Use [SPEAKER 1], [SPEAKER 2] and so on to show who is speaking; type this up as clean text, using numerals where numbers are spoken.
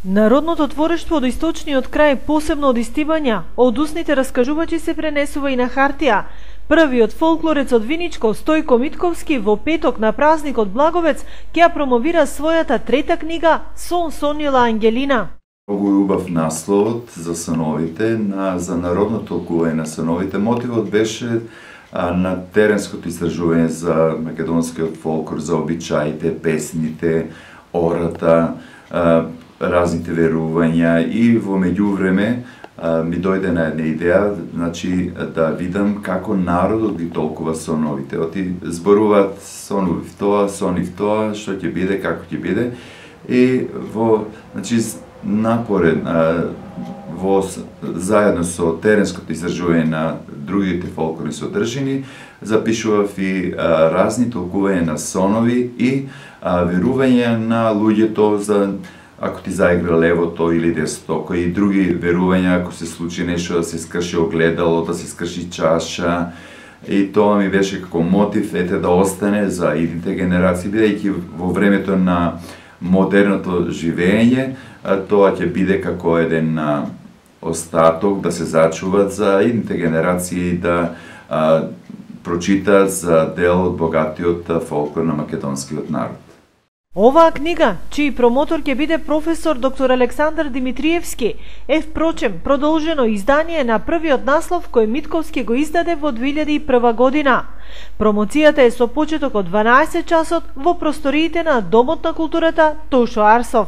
[SPEAKER 1] Народното творештво од источниот крај, посебно од истибања, од усните раскажувачи се пренесува и на хартија. Првиот фолклорец од Виничко, Стојко Митковски, во петок на празникот Благовец ќе ја промовира својата трета книга Сон сонила Ангелина.
[SPEAKER 2] Многу убав насловот за сановите, за народно толкување на сановите. Мотивот беше на теренското истражување за македонскиот фолклор, за обичаите, песните, ората, разните верувања, и во меѓувреме ми дојде на една идеја, значи да видам како народот ги толкува соновите. Оти зборуваат сонувив тоа, што ќе биде, како ќе биде, и во, значи, напоред, заедно со теренското изражување на другите фолклорни содржини, запишував и разни толкувања на сонови и верувања на луѓето за ако ти заигра левото или десното, кои други верувања, ако се случи нешто, да се скрши огледало, да се скрши чаша. И тоа ми беше како мотив, да остане за идните генерации, бидејќи во времето на модерното живење, тоа ќе биде како еден остаток да се зачуват за идните генерации да прочитаат за дел од богатиот фолклор на македонскиот народ.
[SPEAKER 1] Оваа книга, чиј промотор ќе биде професор доктор Александар Димитриевски, е впрочем продолжено издание на првиот наслов кој Митковски го издаде во 2001 година. Промоцијата е со почеток од 12 часот во просториите на Домот на културата Тошо Арсов.